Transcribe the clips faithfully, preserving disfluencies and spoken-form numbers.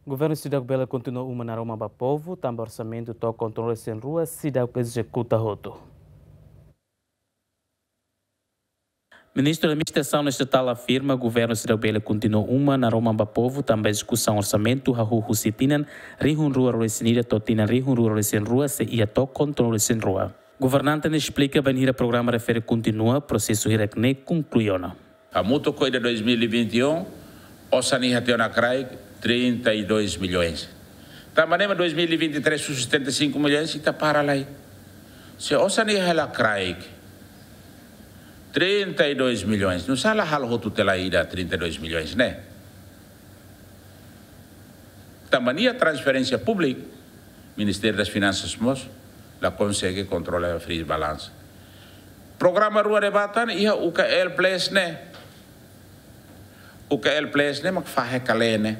Governu seidauk bele kontinua uma naroman ba povu, tanba orsamentu tokon tolunulu-resin-rua seidauk ezekuta hotu. Ministru Administrasaun Estatal afirma governu seidauk bele kontinua uma naroman ba povu, tanba ezekusaun orsamentu hahú husi tinan rihun rua ruanulu-resin-ida to'o tinan rihun rua ruanulu-resin-rua sei iha tokon tolunulu-resin-rua. Governante ne'e esplika bainhira programa refere kontinua, prosesu hirak-ne'e konklui ona. Hamutuk ho ida dois mil e vinte e um, osan iha tiha ona kraik trinta e dois milhões. Tanba ne'e mak dois mil e vinte e três husu setenta e cinco milhões, ita para lai. Se osan iha hela kraik trinta e dois milhões, nusá la halo hotu tiha lai ida trinta e dois milhões ne'e? Tanba nia transferénsia públika, Ministériu das Finansas mós la konsege kontrola freeze balance. Programa rua ne'ebá tan iha U K L Plus ne'e. U K L Plus ne'e mak fahe kale ne'e.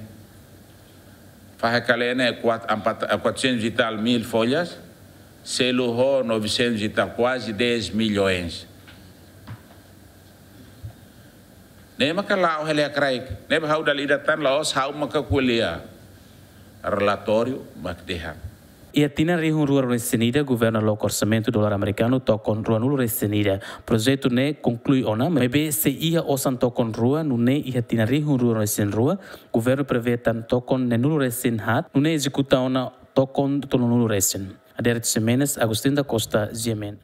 Fahe kale ne'e kuat-, empat, eh, quatrocentos e tal mil folhas, selu ho novecentos e tal, kuaze dez milhões. Ne'e maka la'o hela iha kraik. Ne'ebé ha'u dala ida tan la'ós ha'u maka ko'alia. Relatóriu mak dehan. Iha tinan rihun rua ruanulu-resin-ida, governu haloke orsamentu dolar amerikanu tokon ruanulu-resin-ida. Projetu ne'e konklui ona, maibé sei iha osan tokon rua, nune'e iha tinan rihun rua ruanulu-resin-rua, governu prevee tan tokon neenulu-resin-haat, nune'e ezekuta ona tokon tolunulu-resin. Adérito Ximenes, Agostinho da Costa, G M N.